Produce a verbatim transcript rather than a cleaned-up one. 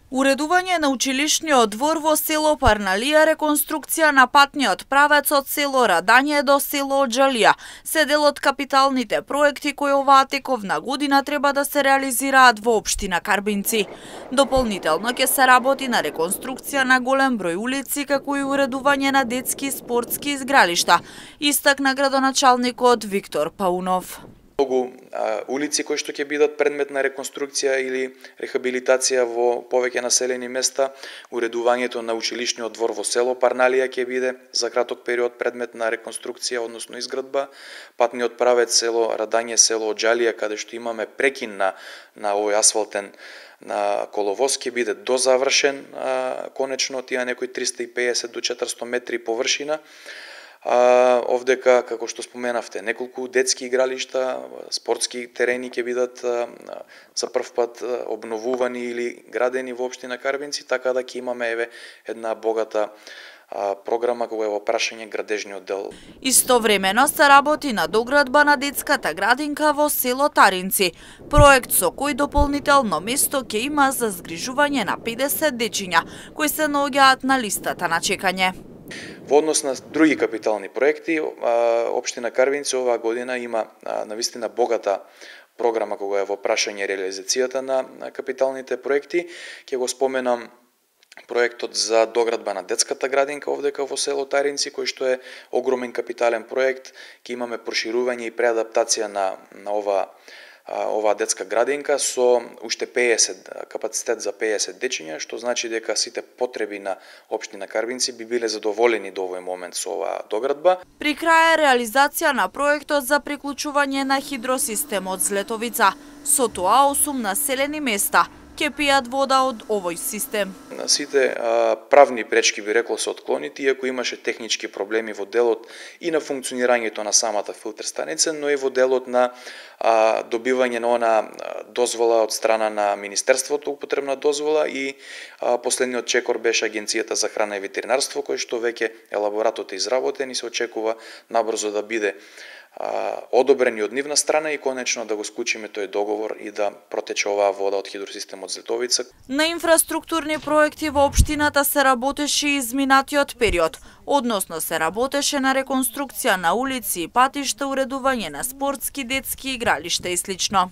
Уредување на училишниот двор во село Парналија, реконструкција на патниот правец од село Радање до село Оџалија се дел од капиталните проекти кои оваа тековна година треба да се реализираат во општина Карбинци. Дополнително ќе се работи на реконструкција на голем број улици, како и уредување на детски и спортски изгралишта, истакна градоначалникот Виктор Паунов. Многу а, улици кои што ќе бидат предмет на реконструкција или рехабилитација во повеќе населени места, уредувањето на училишниот двор во село Парналија ќе биде за краток период предмет на реконструкција, односно изградба, патниот правец село Радање, село Оџалија, каде што имаме прекин на, на овој асфалтен на коловоз, ќе биде дозавршен а, конечно, тие некои триста и песет до четиристотини метри површина. А, овдека, како што споменавте, неколку детски игралишта, спортски терени ќе бидат а, за прв пат а, обновувани или градени во општина Карбинци, така да ќе имаме еве една богата а, програма кога е во прашање градежниот дел. Истовремено се работи на доградба на детската градинка во село Таринци, проект со кој дополнително место ќе има за згрижување на педесет дечиња кои се наоѓаат на листата на чекање. Во однос на други капитални проекти, општина Карбинци оваа година има навистина богата програма кога е во прашање реализацијата на капиталните проекти. Ќе го споменам проектот за доградба на детската градинка овдека во село Таринци, кој што е огромен капитален проект. Ќе имаме проширување и преадаптација на, на ова оваа детска градинка со уште песет капацитет за песет дечиња, што значи дека сите потреби на општина Карбинци би биле задоволени до овој момент со оваа доградба. При крај е реализација на проектот за приклучување на хидросистемот Злетовица. Со тоа осум населени места ќе пијат вода од овој систем. Сите а, правни пречки би рекло се отклонити, иако имаше технички проблеми во делот и на функционирањето на самата филтер станица, но и во делот на а, добивање на она дозвола од страна на Министерството, употребна дозвола, и а, последниот чекор беше Агенцијата за храна и ветеринарство, кој што веќе елаборатот е изработен и се очекува набрзо да биде одобрени од нивна страна и конечно да го склучиме тој договор и да протече оваа вода од хидросистемот Злетовица. На инфраструктурни проекти во општината се работеше и изминатиот период, односно се работеше на реконструкција на улици и патишта, уредување на спортски, детски игралишта и слично.